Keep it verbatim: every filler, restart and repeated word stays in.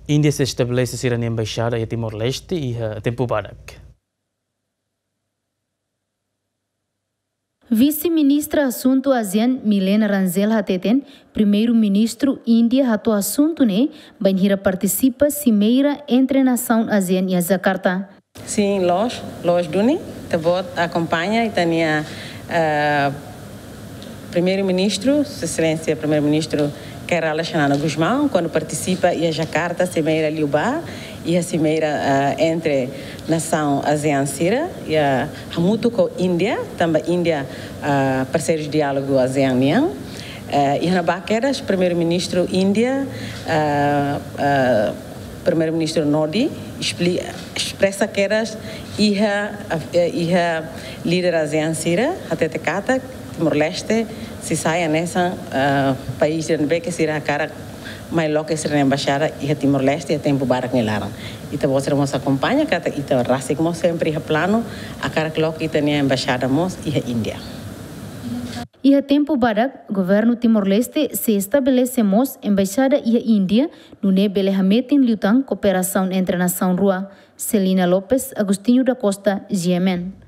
Índia sei estabelese sira-nia embaixada iha Timor-Leste iha tempu badak. Vise-Ministra Asuntu ASEAN Milena Rangel hateten, Primeiru-Ministru Índia hato'o asuntu ne'e bainhira partisipa simeira entre nasaun ASEAN iha Jakarta. Sin, loos, loos duni, ita-boot akompaña ita-nia, eh, Primeiru-Ministru, Sua Exelénsia Primeiru-Ministru Kay Rala Xanana Gusmão, kuandu partisipa iha Jakarta, simeira liubá, iha simeira, eh, entre nasaun ASEAN sira, iha hamutuk ho Índia, tanba Índia, eh, parseiru diálogu ASEAN nian. Eh, iha ne'ebá kedas Primeiru-Ministru Índia, eh, eh, Primeiru-Ministru Modi, espli-, espresa kedas iha, eh, iha líder ASEAN sira, hatete katak Timor-Leste sei sai hanesan, eh, país ida ne'ebé ke sira hakarak mai loke sira-nia embaixada iha Timor-Leste iha tempu badak nia laran. Ita-boot sira mós akompaña katak ita rasik mós sempre iha planu hakarak loke ita-nia embaixada mós iha Índia. Iha tempu badak, Governu Timor-Leste sei estabelese mós embaixada iha Índia, nune'e bele hametin liután kooperasaun entre nasaun rua. Celina Lopes, Agostinho da Costa, G M N.